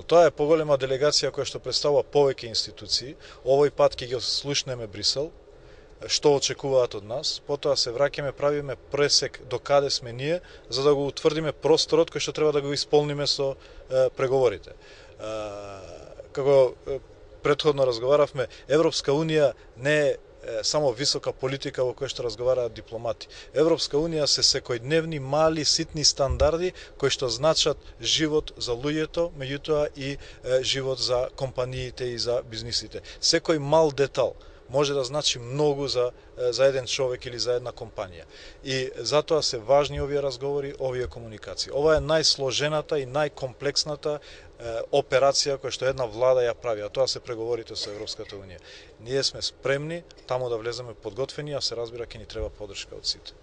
Тоа е поголема делегација која што представува повеќе институции. Овој пат ќе ги слушнеме Брисел, што очекуваат од нас, потоа се враќаме, правиме пресек до каде сме ние, за да го утврдиме просторот кој што треба да го исполниме со преговорите. Како претходно разговаравме, Европска Унија не е само висока политика во која што разговараат дипломати. Европска Унија се секојдневни мали ситни стандарди кои што значат живот за луѓето, меѓутоа и живот за компаниите и за бизнисите. Секој мал детал може да значи многу за еден човек или за една компанија. И затоа се важни овие разговори, овие комуникации. Ова е најсложената и најкомплексната операција која што една влада ја прави, а тоа се преговорите со Европската Унија. Ние сме спремни таму да влеземе подготвени, а се разбира ќе ни треба поддршка од сите.